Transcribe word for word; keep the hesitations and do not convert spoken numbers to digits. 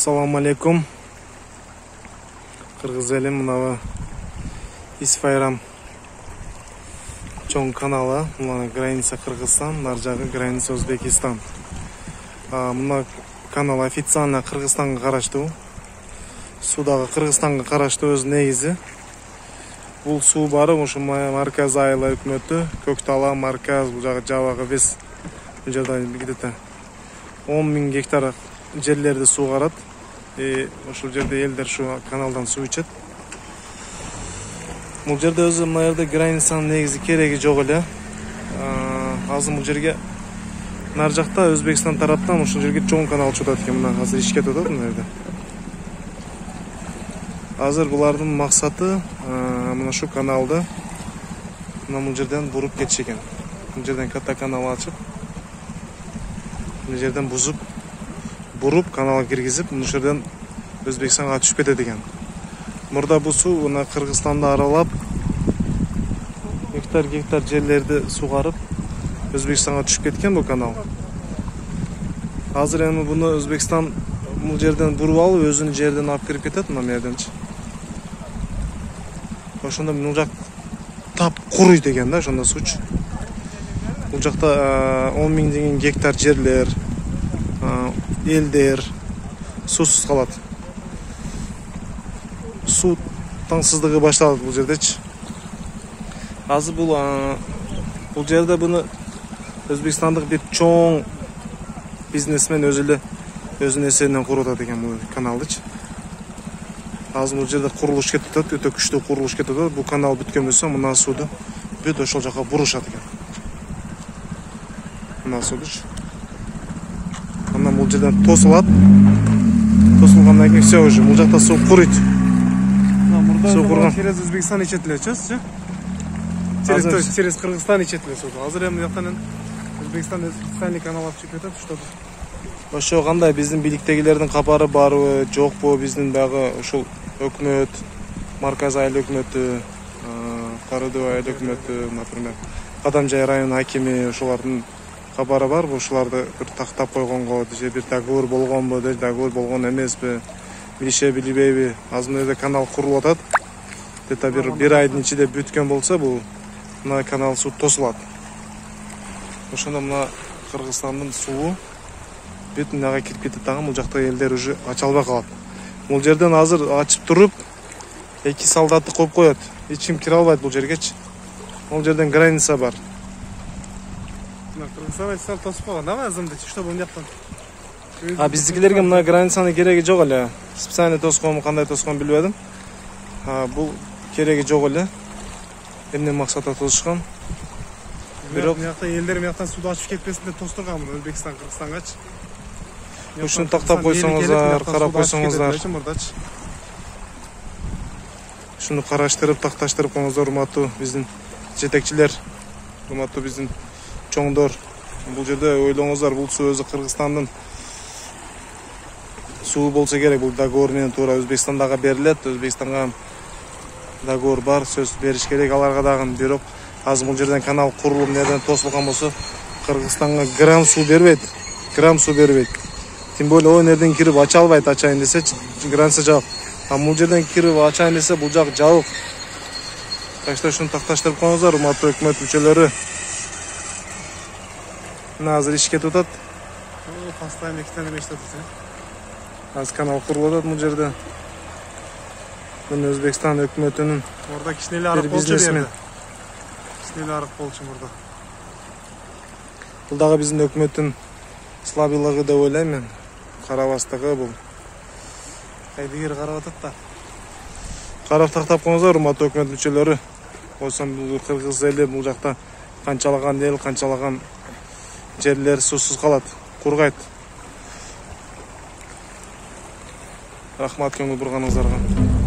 Assalamu alaikum. Kırgız elim mınava İsfayram чоң каналы. Мына граница Кыргызстан, наржагы граница Өзбекистан. Мына канал официально Кыргызстанга караштуу. Судагы Кыргызстанга караштуу өз негизи. Бул суу бары ошо Марказ айыл өкмөтү, Көктала, Марказ, бул жагы жабагы вес. Бул жерде где-то он миң гектар жерлерди суугарат. И ошол жерде элдер ушу каналдан суу ичет. Бул жерде өзү мына жерде границанын негизи кереги жок эле. Азыр бул жерге нар жакта Өзбекстан тараптан ушул жерге чоң канал чыгат экен. Мына азыр ишке атат мына жерде. Азыр булардын максаты мына ушу каналды мына бул жерден буруп кетиш экен. Бул жерден ката канал ачып, бул жерден бузуп, буруп каналга киргизип, бул жерден Өзбекстанга түшүп кетет экен. Мурда бул суу мына Кыргызстанды аралап, гектар гектар жерлерди суугарып, Өзбекстанга түшүп кеткен бул канал. Азыр эми буну Өзбекстан бул жерден буруп алып, өзүнүн жерден алып кирип кетет мына жерденчи. Ошондо бул жак тап куруйт экен да, ошондо суучу. Бул жакта он миң деген гектар жерлер, элдер суусуз калат. Суу таңсыздыгы башталат бул жердечи. Азыр бул бул жерде буну Өзбекстандык бир чоң бизнесмен өзү эле өзүнүн эсебинен куруп атат экен бул каналдычы. Азыр бул жерде курулуш кетип атат, өтө күчтүү курулуш кетип атат. Бул канал бүткөн болсо мына сууду бүт ошол жака бурушат экен. Мына суудучу. Андан бул жерден тосулат. Тосулгандан кийин все уже бул жакта суу куруйт. Суу курган. Через Өзбекстан ичет элечи, через то есть через Кыргызстан ичет эле сууду. Азыр эми жактан Өзбекстан специальный канал алып чыгып кетет, что ошо кандай биздин бийликтегилердин кабары барбы, жокпу, биздин дагы ушул өкмөт, Марказ айыл өкмөтү, Карыдуу айыл өкмөтү, например, Кадамжай район хакими ошолордун кабары барбы, ушуларды бир тактап койгонго, же бир договор болгонбу, же договор болгон эмеспи, билише билбейби. Азыр мына жерде канал курулуп атат. Где-то бир бир айдын ичинде бүткөн болсо бул мына канал суу тосулат. Ошондо мына Кыргызстандын суу бүт мынага кирип кетет дагы, бул жакта элдер уже ача албай калат. Бул жерден азыр ачып туруп эки солдатты коюп коет. Эч ким кире албайт бул жергечи. Бул жерден граница бар. Кыргызстан тосуп койгон да азырынча, что бул жактан. А биздикилерге мына границанын кереги жок эле. Специально тосконму, кандай тоскон билбедим. А бул кереги жок эле. Эмне максатта тосушкан? Бирок мыякта элдер мыяктан сууду ачып кетпесин деп тостурган муну Өзбекстан Кыргызстангачы. Ушуну тактап койсоңуздар, карап койсоңуздар. Ушуну караштырып, такташтырып коюңуздар, урматтуу биздин жетекчилер, урматтуу биздин чоңдор. Бул жерде ойлоңуздар, бул суу өзү Кыргызстандын суу болсо керек. Бул договор менен туура Өзбекстандага берилет. Өзбекстанга договор бар, сөз бериш керек аларга дагы. Бирок азыр бул жерден канал курулуп, нерден тосулган болсо Кыргызстанга грамм суу бербейт. Грамм суу бербейт. Тем более о нерден кирип ача албайт, ачайын десечи, граница жабык. А бул жерден кирип ачайын десе бул жак жабык. Так что ушуну такташтырып коюңуздар, урматтуу өкмөт мүчөлөрү. Мына азыр иш кетип атат. Постоянно эки неме иштеп атат. Азыр канал курулуп атат бул жерде. Мына Өзбекстан өкмөтүнүн орда кичинеле арык болчу берди. Кичинеле арык болчу мурда. Бул дагы биздин өкмөттүн слабыйлыгы деп ойлойм мен. Карабастыгы бул. Кайдыгер карап атат да. Карап тактап коюңуздар, урматтуу өкмөт мүчөлөрү. Койсом бул Кыргыз эли бул жакта канчалаган эл, канчалаган жерлер суусуз калат, кургайт. Рахмат көңүл бурганыңыздарга.